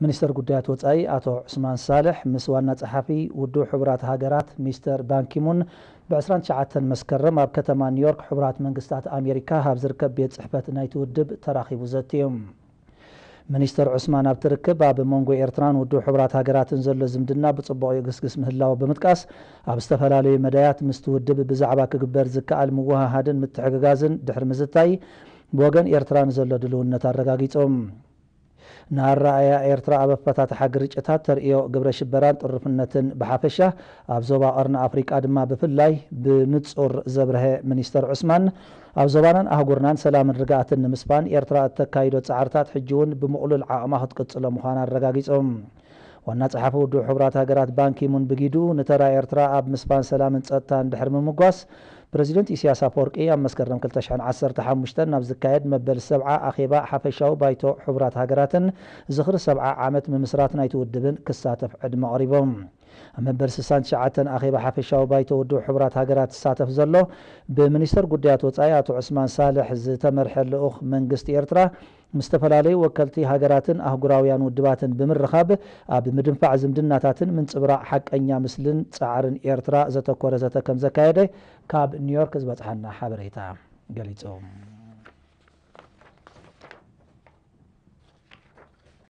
ሚኒስተር ጉዳያት ወጻኢ ኣቶ ዑስማን ሳልሕ ምስ ዋና ጸሓፊ ውድብ ሕቡራት ሃገራት ሚስተር ባንኪሙን ብ29 መስከረም ኣብ ከተማ ኒውዮርክ ሕቡራት መንግስታት ኣሜሪካ ኣብ ዝርከብ ቤት ጽሕፈት ናይቲ ውድብ ተራኺቡ ዘትዮም። ሚኒስተር ዑስማን ኣብቲ ርክብ ኣብ መንጎ ኤርትራን ውድብ ሕቡራት ሃገራትን ዘሎ ዝምድና ብጽቡቕ ይግስግስ ምህላው ብምጥቃስ፣ ኣብ ዝተፈላለዩ መዳያት ምስቲ ውድብ ብዛዕባ ክግበር ዝከኣል ምውሃሃድን ምትሕግጋዝን ድሕሪ ምዝታይ፣ ብወገን ኤርትራ ንዘሎ ድልውነት ኣረጋጊጾም። ንኣረኣእያ ኤርትራ ኣብ ኣፈታትሓ ግርጭታት ተርእዮ ግብረ ሽበራን ጥርፍነትን ብሓፈሻ፣ ኣብ ዞባ ቀርኒ ኣፍሪቃ ድማ ብፍላይ ብንጹር ዘብርሀ ሚኒስተር ዑስማን፣ ኣብ ዞባናን ኣህጉርናን ሰላምን ርግኣትን ንምስፋን ኤርትራ እተካይዶ ጻዕርታት ሕጂ እውን ብምቕሉል ዓቕማ ክትቅጽሎ ምዃና ኣረጋጊጾም። ዋና ጸሓፊ ውድብ ሕቡራት ሃገራት ባንኪሙን ብጊዱ፣ ንተራ ኤርትራ ኣብ ምስፋን ሰላምን ጸጥታን ድሕሪ ምምጓስ፣ ፕረዚደንት ኢሳያስ ኣፈወርቂ ኣብ መስከረም ክልተ ሽሕን ዓሰርተ ሓሙሽተን ናብ ዝካየድ መበል ሰብዓ ኣኼባ ሓፈሻዊ ባይቶ ሕቡራት ሃገራትን ዝኽሪ ሰብዓ ዓመት ምምስራት ናይቲ ውድብን ክሳተፍ ዕድመ ኣቕሪቦም። ኣብ መበል ስሳን ትሽዓተን ኣኼባ ሓፈሻዊ ባይቶ ውድብ ሕቡራት ሃገራት ዝሳተፍ ዘሎ፣ ብሚኒስተር ጉዳያት ወጻኢ ኣቶ ዑስማን ሳልሕ ዝተመርሐ ልኡኽ መንግስቲ ኤርትራ፣ ምስ ዝተፈላለዩ ወከልቲ ሃገራትን ኣህጉራውያን ውድባትን ብምርኻብ፣ ኣብ ምድንፋዕ ዝምድናታትን ምንጽብራቕ ሓቀኛ ምስልን ጻዕርን ኤርትራ ዘተኮረ ዘተ ከም ዘካየደ ካብ ኒውዮርክ ዝበጽሓና ሓበሬታ ገሊጹ።